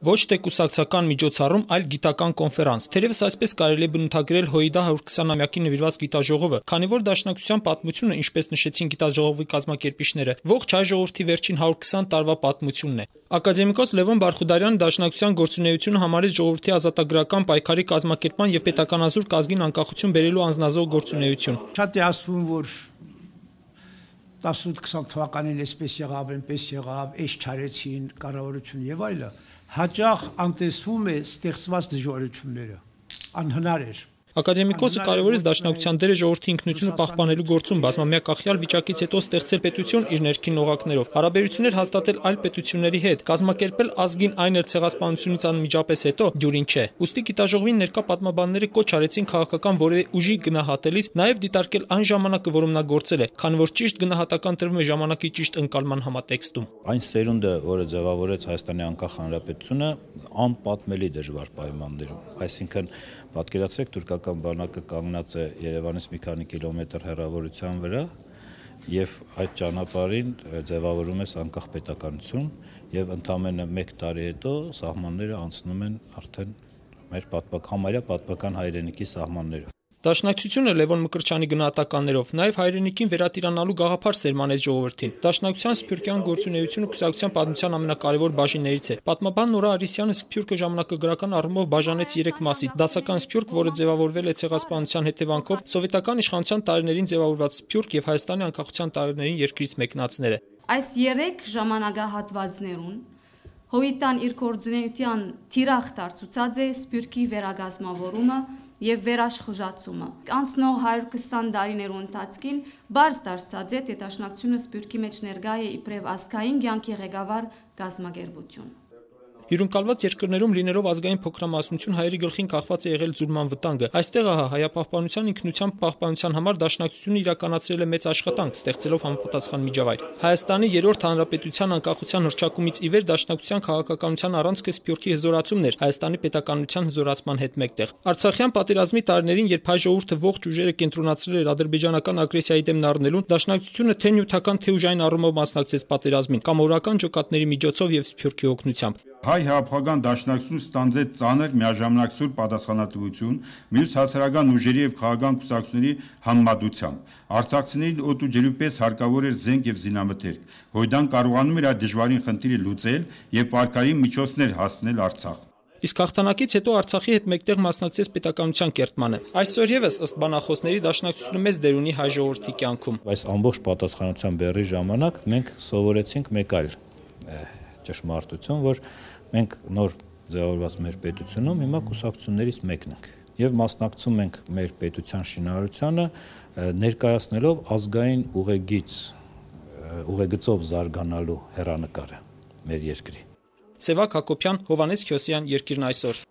Ոչ թե կուսակցական միջոցառում, այլ գիտական կոնֆերանս։ Թերևս այսպես կարելի է բնութագրել ՀՅԴ 120-ամյակի նվիրված գիտաժողովը, քանի որ Դաշնակցության պատմությունը, ինչպես նշեցին գիտաժողովի կազմակերպիչները, ողջ հայ ժողովրդի վերջին 120 տարվա պատմությունն է։ Ակադեմիկոս Լևոն Բարխուդարյանը Դաշնակցության գործունեությունը համարեց ժողովրդի ազատագրական պայքարի կազմակերպման եւ պետականազոր կազգին անկախություն բերելու անձնազոհ գործունեություն։ Շատ է ասվում, որ 18-20 թվականին այսպես եղավ, այնպես եղավ, այս չարեցին, կառավարություն եւ այլը, հաճախ անտեսվում է ստեղծված դժվարությունները, անհնար էր։ Ակադեմիկոսը կարևորեց Դաշնակցության դերը ժողովրդի ինքնությունը պահպանելու գործում, բազմամյա կախյալ վիճակից հետո ստեղծել պետություն իր ներքին օղակներով, հարաբերություններ հաստատել այլ պետությունների հետ, կազմակերպել ազգին այն էլ ցեղասպանությունից անմիջապես հետո դյուրին չէ։ Ուստի գիտաժողովին ներկա պատմաբանները կոչ արեցին քաղաքական որևէ ուժի գնահատելիս նաև դիտարկել այն ժամանակը, որում նա գործել է, քանի որ ճիշտ գնահատական տրվում է ժամանակի ճիշտ ընկալման համատեքստում։ Այն սերունդը, որը ձևավորեց Հայաստանի անկախ հանրապետությունը, անպատմելի դժվար պայմաններում, այսինքն պատկերացրեք թուրքական բանակը կանգնած է Երևանից մի քանի կիլոմետր հեռավորության վրա եւ այդ ճանապարհին ձևավորում է անկախ պետականություն եւ ընդամենը 1 տարի հետո սահմանները անցնում են արդեն մեր համարյա պատմական հայրենիքի սահմաններով։ Դաշնակցությունը Լևոն Մկրտչյանի գնահատականներով նաև հայրենիքին վերատիրանալու գաղափար սերմանեց ժողովրդին։ Դաշնակցության սփյուռքյան գործունեությունը կուսակցության պատմության ամենակարևոր բաժիններից է։ Պատմաբան Նորա Արիսյանը սփյուռքը ժամանակագրական առումով բաժանեց 3 մասի՝ դասական սփյուռք, որը ձևավորվել է ցեղասպանության հետևանքով, սովետական իշխանության տարիներին ձևավորված սփյուռք եւ Հայաստանի անկախության տարիներին երկրից մեկնածները։ Այս 3 ժամանակահատվածներուն Հոյիտան իր գործունեության թիրախ դարձուցած է սփյուռքի վերագազմավորումը եւ վերաշխուժացումը։ Անցնող 120 տարիներու ընթացքին բարձ դարձած է թե Դաշնակցությունը սփյուռքի մեջ ներկա է իբրև ազգային կյանքի ղեկավար գազմագերբություն։ Հյուրընկալված երկրներում լինելով ազգային փոքրամասնություն հայերի գլխին կախված է եղել ձուլման վտանգը։ Այստեղ հայապահպանության ինքնության պահպանության համար Դաշնակցությունը իրականացրել է մեծ աշխատանք, ստեղծելով համապատասխան միջավայր։ Հայաստանի 3-րդ հանրապետության անկախության հռչակումից ի վեր Դաշնակցության քաղաքականության առանցքը սփյուռքի հզորացումն էր Հայաստանի պետականության հզորացման հետ մեկտեղ։ Արցախյան պատերազմի տարիներին, երբ հայ ժողովուրդը ողջ ուժերը կենտրոնացրել էր ադրբեջանական ագրեսիայի դեմ նառնելուն, Դաշնակցությունը թե նյութական թե ուժային առումով մասնակցեց պատերազմին, կամ օրական ջոկատների միջոցով եւ սփյուռքի օգնությամբ։ Հայ հեղափոխական դաշնակցությունը ստանձնեց ծանր միաժամանակ սուր պատասխանատվություն մյուս հասարակական ուժերի եւ քաղաքական կուսակցությունների համեմատությամբ։ Արցախցիներին օդ ու ջրի պես հարկավոր էր զենք եւ զինամթերք։ ՀՅԴ-ն կարողանում էր այդ դժվարին խնդիրը լուծել եւ պարկային միջոցներ հասցնել Արցախ։ Իսկ հաղթանակից հետո Արցախի հետ մեկտեղ մասնակցեց պետականության կերտմանը։ Այսօր եւս ըստ բանախոսների Դաշնակցությունը մեծ դեր ունի հայ ժողովրդի կյանքում։ Այս ամբողջ պատասխանատվության բեռի ժամանակ մենք սովորեցինք մեկ այլ ճշմարտություն, որ մենք նոր ձևավորված մեր պետությունում հիմա կուսակցություններից մեկն ենք եւ մասնակցում ենք մեր պետության շինարարությանը ներկայացնելով ազգային ուղեգծով զարգանալու հեռանկարը մեր երկրի։ Սևակ Հակոբյան, Հովհաննես Քյոսյան, Երկիրն այսօր։